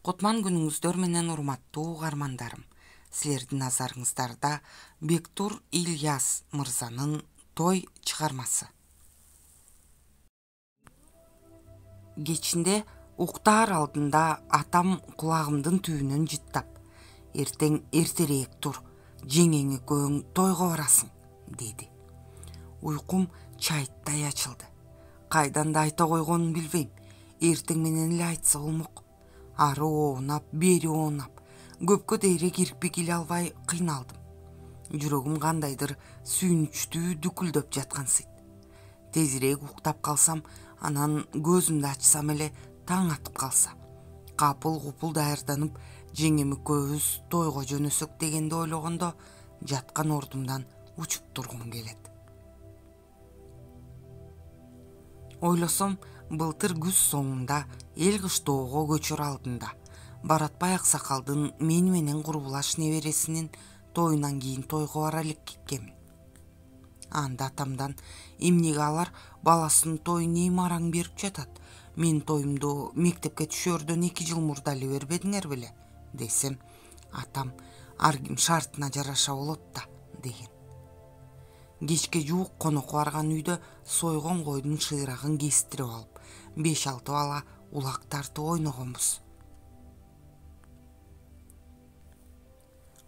Кутман күнүңүздөр менен урматтуу угармандарым. Силердин назарыңыздарда Бектур Ильяс мырзанын той чыгармасы. Кечинде уктаар алдында атам кулагымдын түбүнөн жыттап, "Эртең эртерээк тур, жеңең экөөң тойго барасың", деди. Уйкум чайттай ачылды. Кайдан да айта койгонун билбейм. Эртең менен эле айтса болмок. Ары оонап, бери оонап, көпкө дейре кирпи киле албай кыйналдым. Жүрөгүм кандайдыр сүйүнүчтүү дүкүлдөп жаткансыйт. Тезирээк уктап калсам, анан көзүмдү ачсам эле таң атып калса, капыл купул даярданып, жеңем экөөбүз тойго жөнөсөк дегенди ойлогондо, жаткан ордумдан учуп тургум келет. Ойлосом, былтыр күз соңунда эл кыштоого көчөр алдында Баратбай аксакалдын мени менен курбулаш небересинин тоюнан кийин тойго бара элек экенмин. Анда атамдан эмнеге алар баласынын тоюн эми араң берип жатат, менин тоюмду мектепке түшөөрдөн 2 жыл мурда эле бербедиңер беле, десем, атам ар ким шартына жараша болот да, деген. Кечке жуук конокко барган үйдө сойгон койдун шыйрагын кестирип алып, 5-6 бала улак тартып ойногонбуз.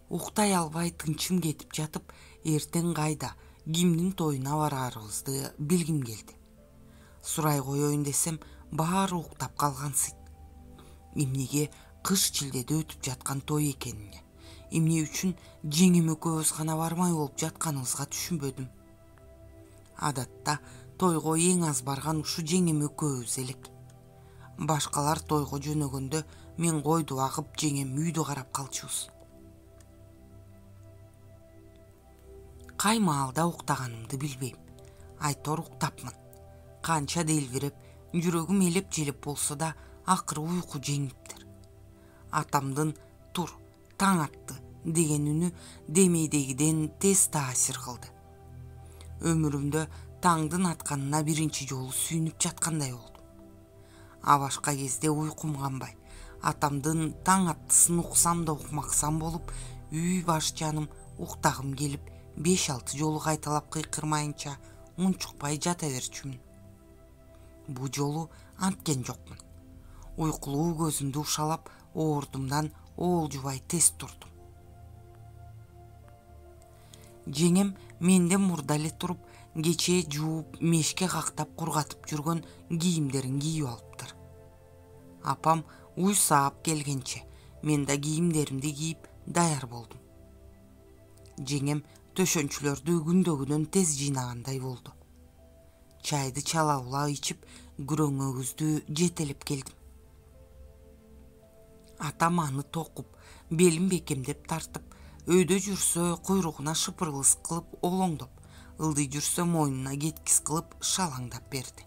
Уктай албай тынчым кетип жатып, эртең кайда, кимдин тоюна бараарыбызды билгим келди. Сурай коеюн десем, баары уктап калгансыйт. Эмнеге кыш-чилдеде өтүп жаткан той экенине, эмне үчүн жеңем экөөбүз гана бармай болуп жатканыбызга түшүнбөдүм. Адатта тойго эң аз барган ушу жеңем экөөбүз элек. Башкалар тойго жөнөгөндө мен койду багып, жеңем үйдү карап калчубуз. Кай маалда уктаганымды билбейм. Айтор уктапмын. Канча делбиреп, жүрөгүм элеп-желеп болсо да, акыры уйку жеңиптир. Атамдын "Тур, таң атты" деген үнү демейдегиден тез таасир кылды. Өмүрүмдө таңдын атканына биринчи жолу сүйүнүп жаткандай болдум. А башка кезде уйкум канбай, атамдын таң аттысын уксам да укмаксам болуп, үй баш жаным уктагым келип, 5-6 жолу кайталап кыйкырмайынча унчукпай жата берчүмүн. Бу жолу анткен жокмун. Уйкулуу көзүмдү ушалап, ордумдан оолжубай тез турдум. Жеңем менден мурда эле туруп, кечээ жууп, мешке кактап кургатып жүргөн кийимдерин кийип алыптыр. Апам уй саап келгенче мен да кийимдеримди кийип даяр болдум. Жеңем төшөнчүлөрдү күндөгүнөн тез жыйнагандай болду. Чайды чала-була ичип, күрөңөгүздү жетелеп келдим. Атам аны токуп, белин бекемдеп тартып, өйдө жүрсө куйругуна шыпыргыс кылып олоңдоп, ылдый жүрсө мойнуна кеткис кылып шалаңдап берди.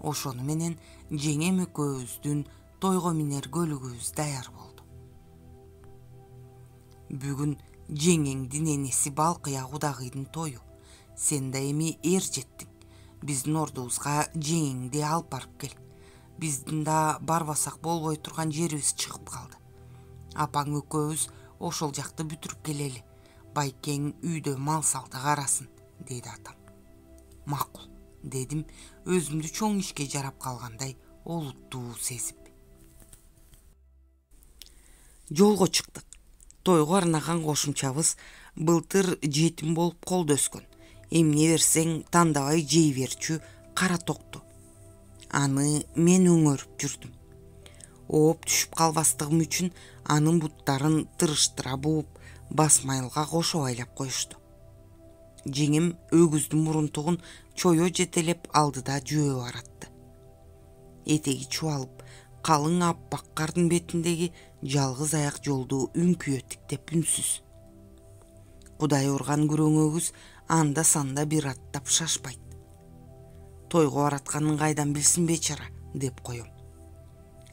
Ошону менен жеңем экөөбүздүн тойго минер көлүгүбүз даяр болду. Бүгүн жеңеңдин энеси Балкыя Кудагыйдын тою. Сен да эми эр жеттиң. Биздин ордубузга жеңеңди алып барып кел. Биздин да барбасак болбой турган жерибиз чыгып калды. Апаң экөөбүз ошол жакты бүтүрүп келели. Байкең үйдө мал салды карасын, деди атам. Макул, дедим, өзүмдү чоң ишке жарап калгандай олуттуу сезип. Жолго чыктык. Тойго арнаган кошумчабыз былтыр жетим болуп колдо өскөн, эмне берсең тандабай жей берчү кара токту. Аны мен өңөрүп жүрдүм. Ооп түшүп калбастыгым үчүн анын буттарын тырыштыра бууп, басмайылга кошо байлап коюшту. Жеңем өгүздүн мурунтугун чое жетелеп алдыда жөө баратты. Этеги чубалып, калың аппак кардын бетиндеги жалгыз аяк жолду үңкүйө тиктеп үнсүз. Кудай урган күрөңөгүз анда санда бир аттап шашпайт. Тойго баратканын кайдан билсин бечара, деп коем.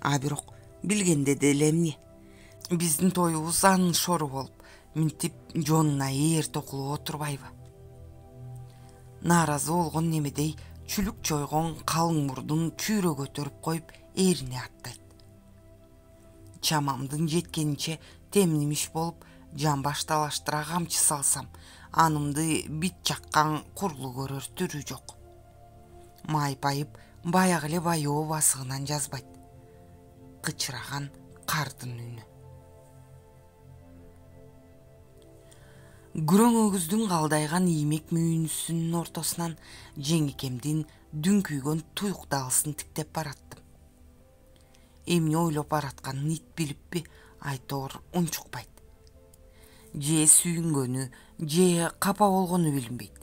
А бирок билгенде деле эмне? Биздин тоюбуз анын шору болуп, минтип жонуна ээр токулуп отурбайбы? Нааразы болгон немедей чүлүк чойгон калың мурдун чүйрө көтөрүп коюп, эрине аттайт. чамамдын жеткенинче темнимиш болуп, жамбаш талаштыра камчы салсам, анымды бит жаккан курлу көрөр түрү жок. Майпайып баягы эле баяоо басыгынан жазбайт. Кычыраган кардын үнү. Күрөң өгүздүн калдайган иймек мүйүнүсүнүн ортосунан жеңекемдин дүңкүйгөн туюк даалысын тиктеп бараттым. Эмне ойлоп баратканын ит билиппи, айтоор унчукпайт. Же сүйүнгөнү, же капа болгону билинбейт.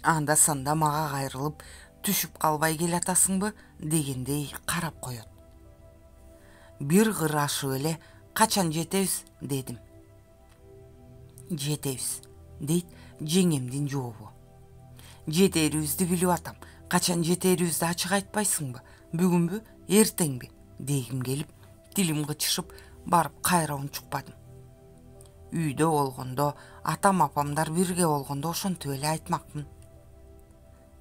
Анда санда мага кайрылып, түшүп калбай келатасыңбы дегендей карап коет. Бир кыр ашып эле качан жетебиз дедим. Жетебиз, дейт жеңемдин жообу. Жетерибизди билип атам. Качан жетерибизди ачык айтпайсыңбы? Бүгүнбү, эртеңби? Дегим келип, тилим кычышып, барып кайра унчукпадым. Үйдө болгондо, атам апамдар бирге болгондо ошентип эле айтмакмын.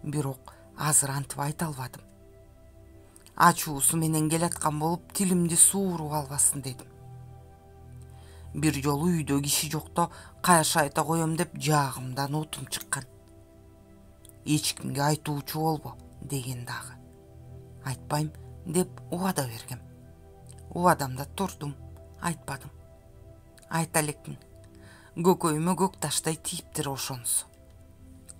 Бирок азыр антип айта албадым. Ачуусу менен келаткан болуп, тилимди сууруп албасын дедим. Бир жолу үйдө киши жокто каяш айта коем деп жаагымдан отум чыккан. Эч кимге айтуучу болбо деген дагы. Айтпайм деп убада бергем. Убадамда турдум, айтпадым. Айта элекмин. Көкөйүмө көк таштай тийиптир ошонусу.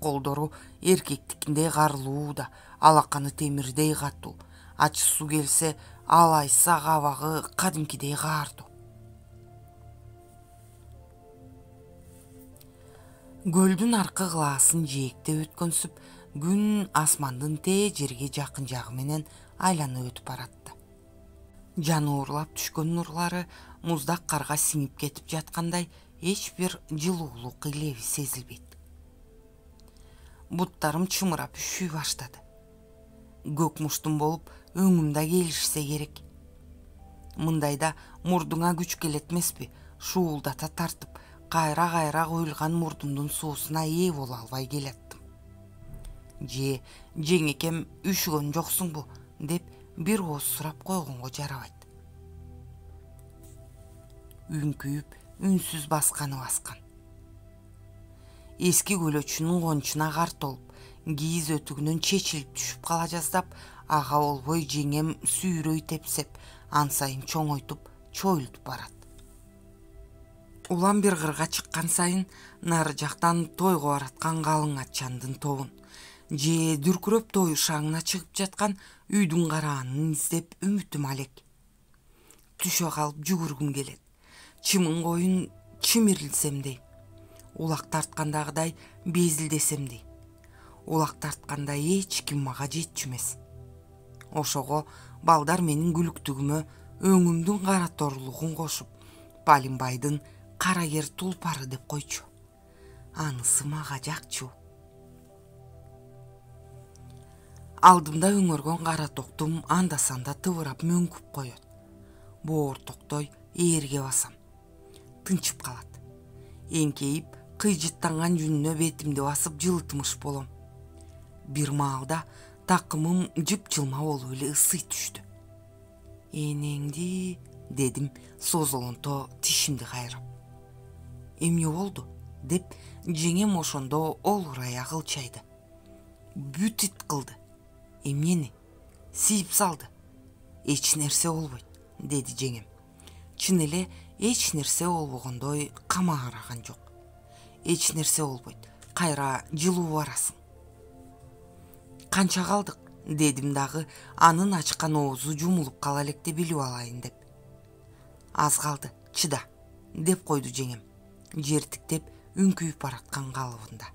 Колдору эркектикиндей карлуу да, алаканы темирдей катуу. Ачысуу келсе, алайса кабагы кадимкидей каардуу. Көлдүн аркы кылаасын жээктеп өткөнсүп, күн асмандын тээ жерге жакын жагы менен айланып өтүп баратты. Жануурлап түшкөн нурлары муздак карга сиңип кетип жаткандай эч бир жылуулук илеби сезилбейт. Буттарым чымырап үшүй баштады. Көк муштум болуп өңүм да келишсе керек. Мындайда мурдуңа күч келет эмеспи? Шуулдата тартып, кайра коюлган мурдумдун суусуна ээ боло албай келаттым. Же жеңекем үшүгөн жоксуңбу деп бир ооз сурап койгонго жарабайт. Үңкүйүп, үнсүз басканы баскан. Эски көлөчүнүн кончуна кар толуп, кийиз өтүгүнөн чечилип түшүп кала жаздап, ага болбой жеңем сүйрөй тепсеп, ан сайын чоңойтуп, чоюлтуп барат. Улам бир кырга чыккан сайын нары жактан тойго бараткан калың атчандын тобун, же дүркүрөп той шаңына чыгып жаткан үйдүн караанын издеп үмүтүм алек. Түшө калып жүгүргүм келет. Чымын коюн чимирилсемдей. Улак тарткандагыдай безилдесемдей. Улак тартканда эч ким мага жетчү эмес. Ошого балдар менин күлүктүгүмө өңүмдүн кара торулугун кошуп, Балимбайдын кара кер тулпары деп койчу. Анысы мага жакчу. Алдымда өңөргөн кара токтум анда-санда тыбырап мөңкүп коет. Боор токтой ээрге басам. Тынчып калат. Эңкейип, кыйжыттанган жүнүнө бетимди басып жылытмыш болом. Бир маалда такымым жыпчылма болуп эле ысый түштү. Энеңди, дедим созолонто тишимди кайрап. Эмне болду деп жеңем ошондо олурая кылчайды. Бүт ит кылды. Эмнени? Сийип салды. Эч нерсе болбойт, деди жеңем. Чын эле эч нерсе болбогондой камаараган жок. Эч нерсе болбойт. Кайра жылуу барасың. Канча калдык, дедим дагы анын ачкан оозу жумулуп кала электе билип алайын деп. Аз калды, чыда, деп койду жеңем, жертиктеп үңкүйүп бараткан калыбында.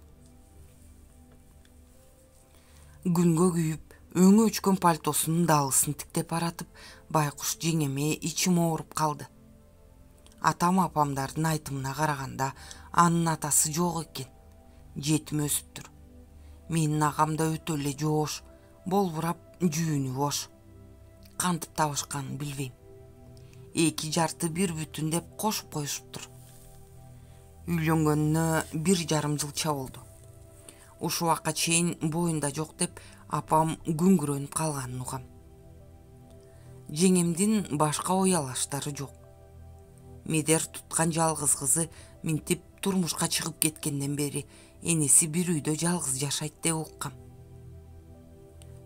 Күнгө күйүп, өңү өчкөн пальтосунун даалысын тиктеп баратып, байкуш жеңеме ичим ооруп калды. Атам апамдардын айтымына караганда, анын атасы жок экен. Жетим өсүптүр. Менин агам да өтө эле жоош, болбурап жүүнү бош. Кантип табышканын билбейм. 2 жарты 1 бүтүн деп кошуп коюшуптур. Үйлөнгөнүнө 1,5 жылча болду. Ушул убакка чейин боюнда жок деп апам күңгүрөнүп калганын угам. Жеңемдин башка уялаштары жок. Медер туткан жалгыз кызы минтип турмушка чыгып кеткенден бери энеси бир үйдө жалгыз жашайт деп уккам.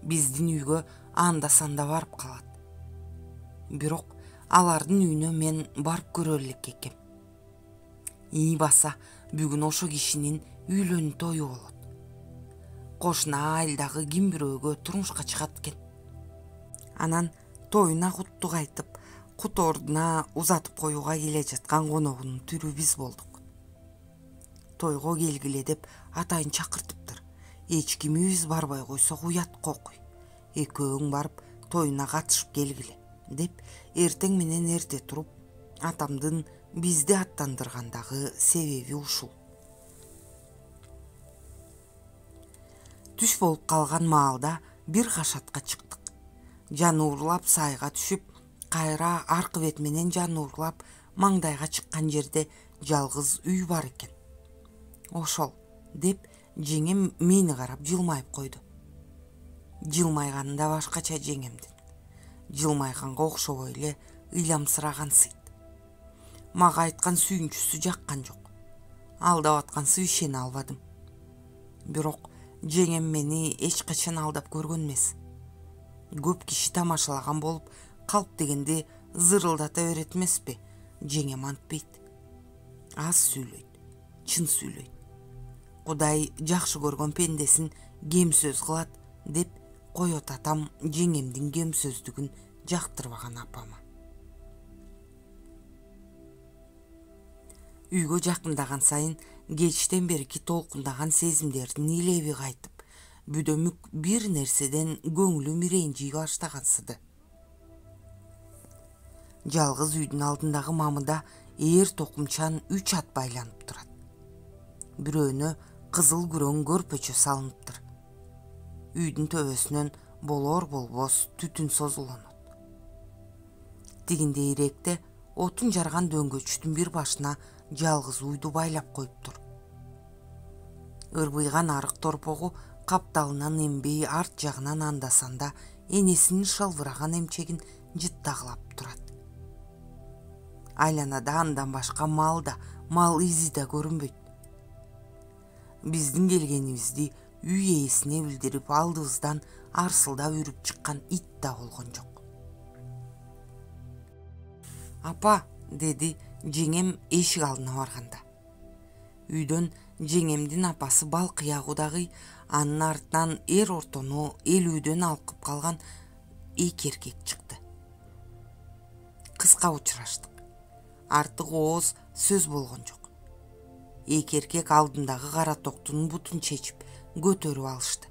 Биздин үйгө анда-санда барып калат. Бирок алардын үйүнө мен барып көрө элек экем. Ий баса бүгүн ошо кишинин үйлөнүү тою болот. Кошуна айылдагы ким бирөөгө турмушка чыгат экен. Анан тоюна куттук айтып, кут ордуна узатып коюуга келе жаткан коногунун түрү биз болдук. Тойго келгиле деп атайын чакыртыптыр. Эч кимибиз барбай койсок уят кокуй. Экөөң барып тоюна катышып келгиле деп эртең менен эрте туруп, атамдын бизди аттандыргандагы себеби ушул. Түш болуп калган маалда бир кашатка чыктык. Жаны урлап сайга түшүп, кайра аркы бет менен жаны урлап маңдайга чыккан жерде жалгыз үй бар экен. Ошол деп жеңем мени карап жылмайып койду. Жылмайганы да башкача жеңемдин. Жылмайганга окшобой эле ыйламсырагансыйт. Мага айткан сүйүнчүсү жаккан жок. Алдап аткансып ишене албадым. Бирок жеңем мени эч качан алдап көргөн эмес. Көп киши тамашалаган болуп, калп дегенди зырылдата берет эмеспи? Жеңем антпейт. Аз сүйлөйт, чын сүйлөйт. Кудай жакшы көргөн пендесин кем сөз кылат деп коет атам жеңемдин кем сөздүгүн жактырбаган апама. Үйгө жакындаган сайын кечтен берки толкундаган сезимдердин илеби кайтып, бүдөмүк бир нерседен көңүлүм ирэнжий баштагансыды. Жалгыз үйдүн алдындагы мамыда ээр токумчан 3 ат байланып турат. Бирөөнө кызыл күрөң көрпөчө салыныптыр. Үйдүн төбөсүнөн болор болбос түтүн созулонот. Тигинде иректе отун жарган дөңгөчтүн бир башына жалгыз уйду байлап коюптур. Ырбыйган арык торпогу капталынан эмбей арт жагынан анда-санда энесинин шылбыраган эмчегин жыттагылап турат. Айланада андан башка мал изи да көрүнбөйт. Биздин келгенибизди үй ээсине билдирип алдыбыздан арсылдап үрүп чыккан ит да болгон жок. Апа, деди жеңем эшик алдына барганда. Үйдөн жеңемдин апасы Балкыягудагы, анын артынан эр ортону элүүдөн алкып калган эки эркек чыкты. Кыска учураштык. Артык ооз сөз болгон жок. Эки эркек алдындагы кара токтунун бутун чечип көтөрүп алышты.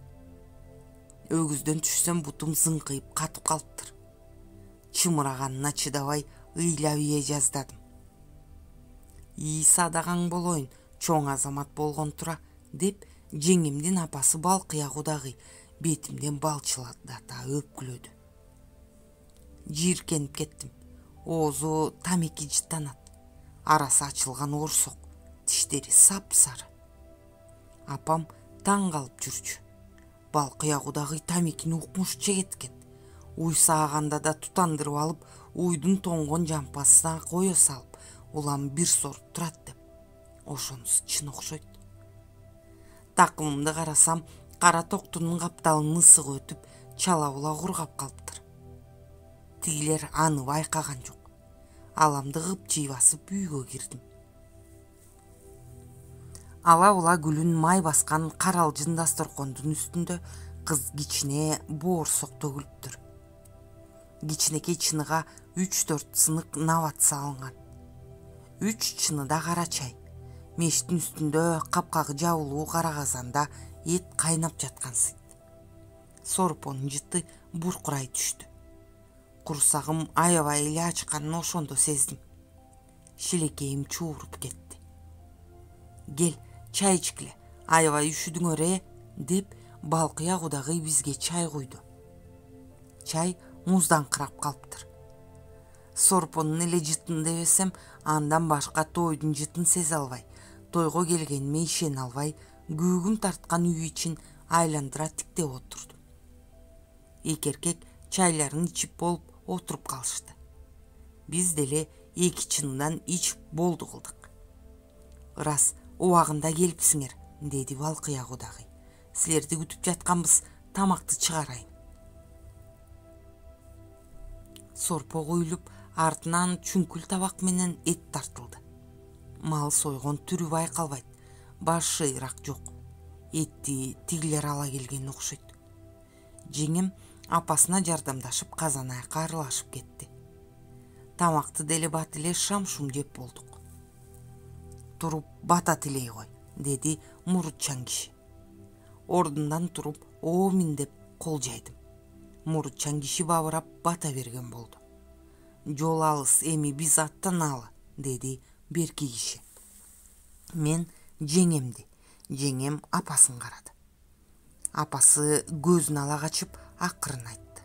Өгүздөн түшсөм бутум зыңкыйып катып калыптыр. Чымыраганына чыдабай ыйлап ие жаздадым. И садаган болоюн, чоң азамат болгон тура, деп жеңемдин апасы Балкыягудагы бетимден балчылата өпкүлөдү. Жийиркенип кеттим. Оозу тамеки жыттанат. Арасы ачылган орсок, тиштери сап-сары. Апам таң калып жүрчү. Балкыягудагы тамекини укмуш жегет экен. Уй сааганда да тутандырып алып, уйдун тоңгон жампасына кое салып, улам бир соруп турат деп. Ошонусу чын окшойт. Такымымды карасам, кара токтунун капталынын ысыгы өтүп, чала була кургап калыптыр. Тигилер аны байкаган жок. Аламды кыпчый басып үйгө кирдим. Ала була гүлүн май баскан каралжын дасторкондун үстүндө кыз кичине боорсок төгүлүптүр. Кичинекей чыныга 3-4 сынык нават салынган. 3 чыныда кара чай. Мештин үстүндө капкагы жабылуу кара казанда эт кайнап жаткансыйт. Сорпонун жыты буркурай түштү. Курсагым аябай эле ачканын ошондо сездим. Шилекейим чууруп кетти. Кел, чай ичкиле, аябай үшүдүңөр, деп Балкыягудагы бизге чай куйду. Чай муздаңкырап калыптыр. Сорпонун эле жытын дебесем, андан башка тойдун жытын сезе албай, тойго келгениме ишене албай, күүгүм тарткан үй ичин айландыра тиктеп отурдум. Эки эркек чайларын ичип болуп отуруп калышты. Биз деле эки чындан ич болду кылдык. Ырас убагында келипсиңер, деди Балкыя кудагый. Силерди күтүп жатканбыз, тамакты чыгарайын. Сорпо куюлуп, артынан чүңкүл табак менен эт тартылды. Мал сойгон түрү байкалбайт, баш шыйрак жок. Этти тигилер ала келген окшойт. Жеңем апасына жардамдашып казанайка аралашып кетти. Тамакты деле бат эле шам-шум жеп болдук. Туруп бата тилей кой, деди мурутчан киши. Ордундан туруп, оомин деп кол жайдым. Мурутчан киши бабырап бата берген болду. Жол алыс, эми биз аттаналы, деди берки киши. Мен жеңемди, жеңем апасын карады. Апасы көзүн ала качып акырын айтты.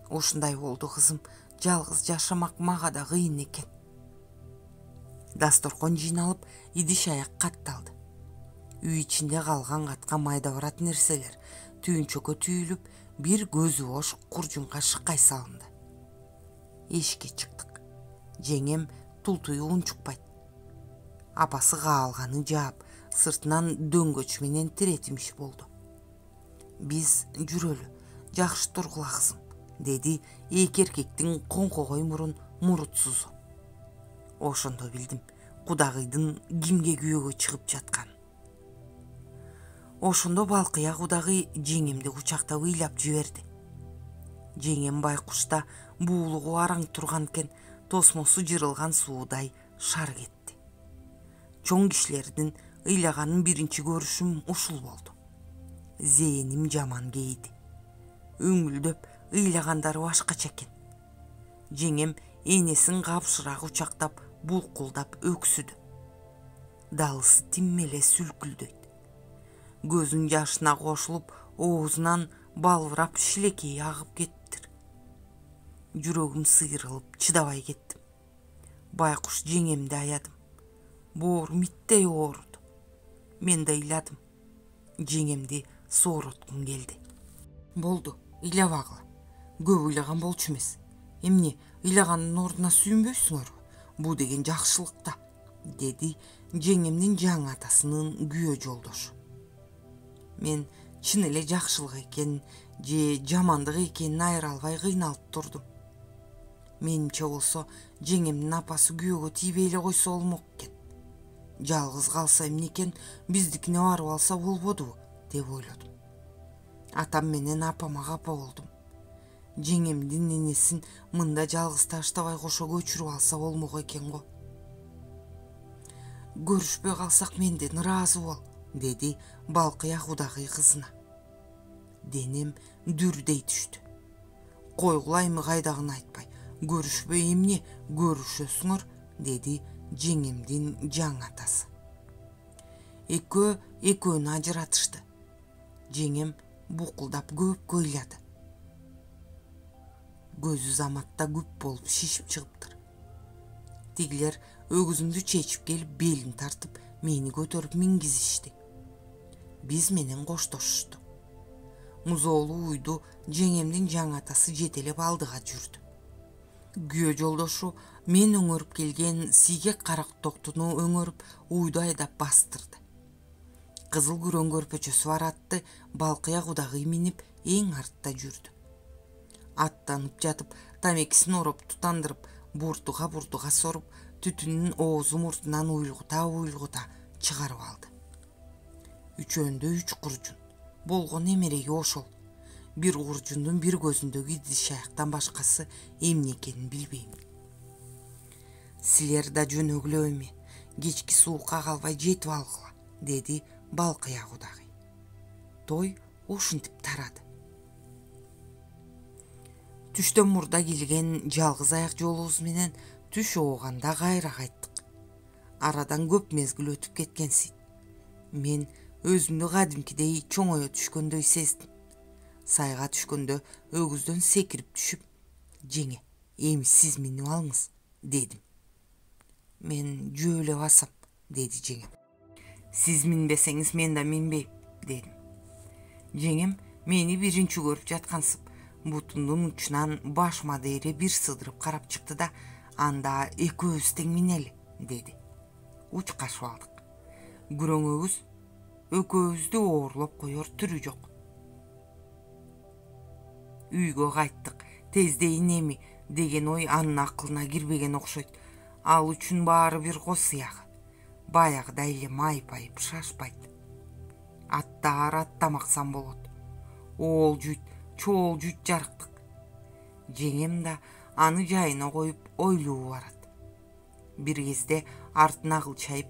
Ушундай болду кызым, жалгыз жашамак мага да кыйын экен. Дасторкон жыйналып, идиш аяк катталды. Үй ичинде калган катка майда барат нерселер түйүнчөккө түйүлүп, бир көзү бош куржунга шыккай салынды. Эшикке чыктык. Жеңем тултуйу унчукпайт. Апасы каалганы жаап, сыртынан дөңгөч менен тиретимиш болду. Биз жүрөлү, жакшы тургула кызым, деди эки эркектин коңкогой мурун мурутсузу. Ошондо билдим кудагыйдын кимге күйөөгө чыгып жатканын. Ошондо Балкыя кудагый жеңемди кучактап ыйлап жиберди. Жеңем байкушта буулугу араң турган экен, тосмосу жырылган суудай шар кетти. Чоң кишилердин ыйлаганын биринчи көрүшүм ушул болду. Зээним жаман кейди. Өңүлдөп ыйлагандары башкача экен. Жеңем энесин капшыраак кучактап, булкулдап өксүдү. Далысы тим эле сүлкүлдөйт. Көзүн жашына кошулуп, оозунан балбырап шилекейи агып кеттир. Жүрөгүм сыйрылып, чыдабай кеттим. Байкуш жеңемди аядым. Боорум иттей ооруду. Мен да ыйладым. Жеңемди соороткум келди. Болду, ыйлабагыла. Көп ыйлаган болчу эмес. Эмне, ыйлагандын ордуна сүйүнбөйсүңөрбү? Бул деген жакшылык да, деди жеңемдин жаңы атасынын күйөө жолдошу. Мен чын эле жакшылык экен же жамандык экенин айыра албай кыйналып турдум. Менимче болсо, жеңемдин апасы күйөөгө тийбей эле койсо болмок экен. Жалгыз калса эмне экен, биздикине барып алса болбодубу, деп ойлодум. Атам менен апама капа болдум. Жеңемдин энесин мында жалгыз таштабай кошо көчүрүп алса болмок экен го. Көрүшпөй калсак менден ыраазы бол, деди Балкыя кудагый кызына. Денем дүрдей түштү. Койгулаймы кайдагын айтпай, көрүшпөй эмне көрүшөсүңөр, деди жеңемдин жаңы атасы. Экөөнү ажыратышты. Жеңем букулдап көпкө ыйлады. Көзү заматта күп болуп шишип чыгыптыр. Тигилер өгүзүмдү чечип келип, белин тартып, мени көтөрүп мингизишти. Биз менен коштошушту. Музоолуу уйду жеңемдин жаңы атасы жетелеп алдыга жүрдү. Күйөө жолдошу мен өңөрүп келген сийгек карак токтуну өңөрүп, уйду айдап бастырды. Кызыл күрөң көрпөчөсү бар атты Балкыя кудагый минип эң артта жүрдү. Аттанып жатып, тамекисин ороп тутандырып, бурдуга соруп, түтүнүн оозу муртунан уйлгута чыгарып алды. Үчөөндө 3 куржун. Болгон эмереги ошол. Бир куржундун бир көзүндөгү идиш аяктан башкасы эмне экенин билбейм. Силер да жөнөгүлө эми, кечки суукка калбай жетип алгыла, деди Балкыя кудагый. Той ушинтип тарады. Түштөн мурда келген жалгыз аяк жолубуз менен түш ооганда кайра кайттык. Арадан көп мезгил өтүп кеткенсийт. Мен өзүмдү кадимкидей чоңое түшкөндөй сездим. Сайга түшкөндө өгүздөн секирип түшүп, жеңе, эми сиз минип алыңыз, дедим. Мен жөө эле басам, деди жеңем. Сиз минбесеңиз мен да минбейм, дедим. Жеңем мени биринчи көрүп жаткансып, бутундун учунан башыма дейре бир сыдырып карап чыкты да: анда экөөбүз тең минели, деди. Учкашып алдык. Күрөңөбүз экөөбүздү оорлоп коер түрү жок. Үйгө кайттык. Тездейин эми деген ой анын акылына кирбеген окшойт. Ал үчүн баары бир ко сыягы. Баягыдай эле майпайып шашпайт. Аттаар аттамаксам болот. Оол жүйт, чоол жүйт жарыктык. Жеңем да аны жайына коюп ойлуу барат. Бир кезде артына кылчайып: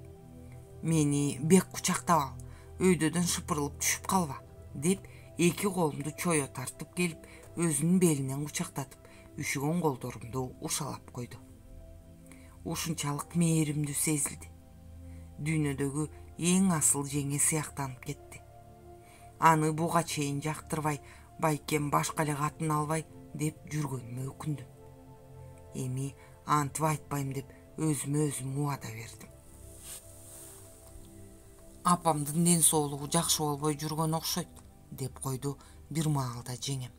мени бек кучактап ал, өйдөдөн шыпырылып түшүп калба, деп эки колумду чое тартып келип, өзүнүн белинен кучактатып, үшүгөн колдорумду ушалап койду. Ушунчалык мээримдүү сезилди. Дүйнөдөгү эң асыл жеңе сыяктанып кетти. Аны буга чейин жактырбай, байкем башка эле катын албай деп жүргөнүмө өкүндүм. Эми антип айтпайм деп өзүмө өзүм убада бердим. Апамдын ден соолугу жакшы болбой жүргөн окшойт, деп койду бир маалда жеңем.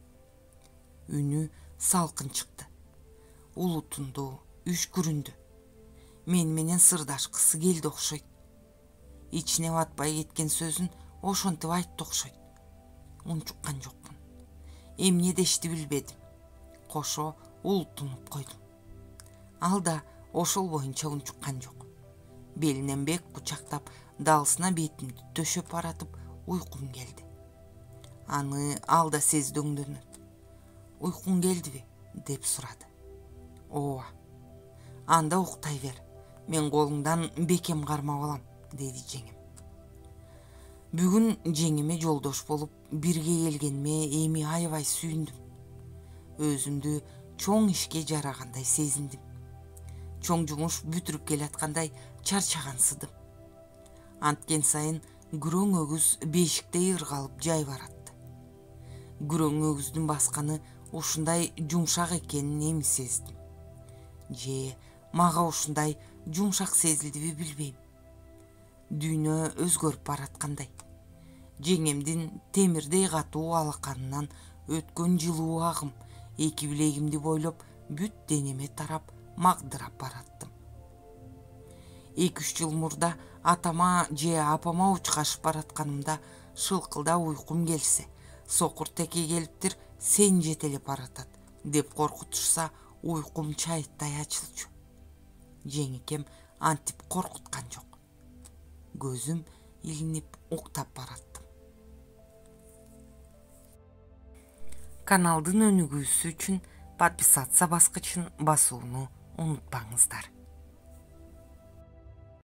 Үнү салкын чыкты. Улутундуу, үшкүрүндү. Мен менен сырдашкысы келди окшойт. Ичине батпай кеткен сөзүн ошентип айтты окшойт. Унчуккан жокмун. Эмне дешти билбедим. Кошо улутунуп койдум. Ал да ошол боюнча унчуккан жок. Белинен бек кучактап, далысына бетимди төшөп баратып уйкум келди. Аны ал да сездөңдөнөт. Уйкуң келдиби? Деп сурады. Ооба. Анда уктай бер. Мен колуңдан бекем кармап алам, деди жеңем. Бүгүн жеңеме жолдош болуп бирге келгениме эми аябай сүйүндүм. Өзүмдү чоң ишке жарагандай сезиндим. Чоң жумуш бүтүрүп келаткандай чарчагансыдым. Анткен сайын күрөң өгүз бешиктей ыргалып жай баратты. Күрөң өгүздүн басканы ушундай жумшак экенин эми сездим. Же мага ушундай жумшак сезилдиби билбейм. Дүйнө өзгөрүп бараткандай. Жеңемдин темирдей катуу алаканынан өткөн жылуу агым эки билегимди бойлоп бүт денеме тарап магдырап бараттым. 2-3 жыл мурда атама же апама учкашып баратканымда шылкылдап уйкум келсе, сокур теке келиптир, сен жетелеп баратат деп коркутушса, уйкум чайыттай ачылчу. Жеңикем антип коркуткан жок. Көзүм илинип уктап бараттым. Каналдын өнүгүүсү үчүн подписаться баскычын басууну унутпаңыздар.